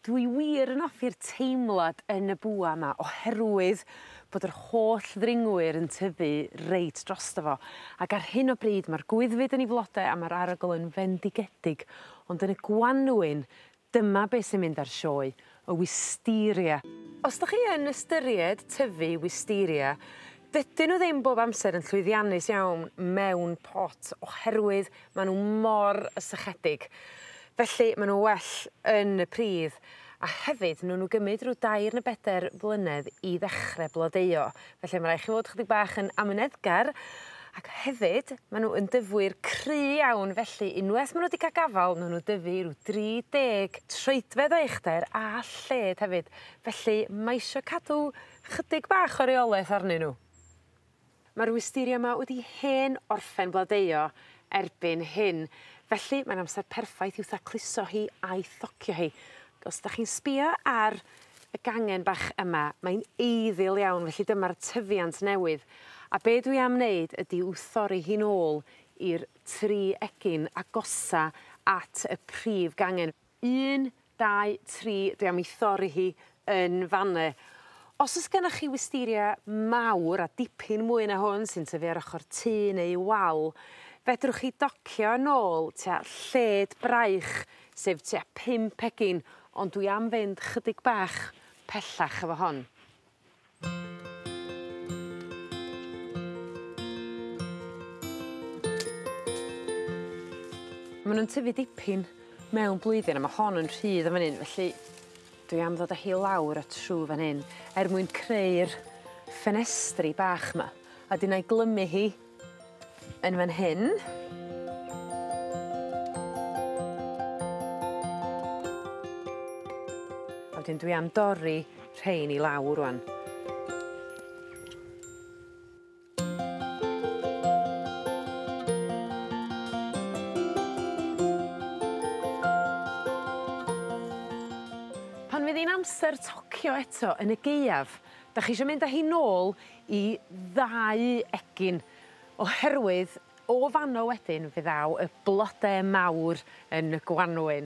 Dwi wir yn offi'r teimlad yn y bwa 'ma oherwydd bod yr holl ddringwyr yn tyfu reit drosto fo ac ar hyn o bryd ma'r gwyddfyd yn 'i flode a ma'r arogl yn fendigedig ond yn y Gwanwyn dyma be' sy'n mynd ar sioe y wisteria. Os 'dach chi yn ystyried tyfu wisteria dydyn n'w ddim bob amser yn llwyddiannus iawn mewn pot oherwydd ma' n'w mor sychedig. Felly ma' n'w well yn y pridd a hefyd newn n'w gymyd ryw dair ne' beder blynedd i ddechre blodeuo felly ma' rai' chi fod chydig bach yn amyneddgar ac hefyd ma' n'w yn dyfwyr cry iawn felly unweth ma' n'w 'di ca'l gafal newn n'w dyfu ryw dri deg troedfedd o uchder a lled hefyd felly ma' isio cadw chydig bach o reoleth arnyn n'w. Ma'r wisteria 'ma wedi hen orffen blodeuo erbyn hyn felly mae'n amser perffaith i'w thacluso hi a'i thocio hi. Os 'dach chi'n sbïo ar y gangen bach yma mae'n eiddil iawn felly dyma'r tyfiant newydd a be' dwi am wneud ydi i'w thorri hi nôl i'r tri egin agosa at y prif gangen. Un dau tri dwi am 'i thorri hi yn fan 'ne. Os o's gennoch chi wisteria mawr a dipyn mwy na hwn sy'n tyfu ar ochor tŷ neu wal fedrwch chi docio nôl tua lled braich sef tua pump egin ond dwi am fynd chydig bach pellach efo hon. Ma' nw'n tyfu dipyn mewn blwyddyn a ma' hon yn rhydd yn fan 'yn felly dwi am ddod â hi lawr a trw fan hyn er mwyn creu'r ffenestri bach 'ma. A 'dyn 'nai glymu hi yn fan hyn. A wedyn dwi am dorri rhein i lawr rŵan. Pan fydd 'i'n amser tocio eto yn y Gaeaf, 'dach chi isio mynd â hi nôl i ddau egin oherwydd o fan 'no wedyn fe ddaw y blode mawr yn y Gwanwyn.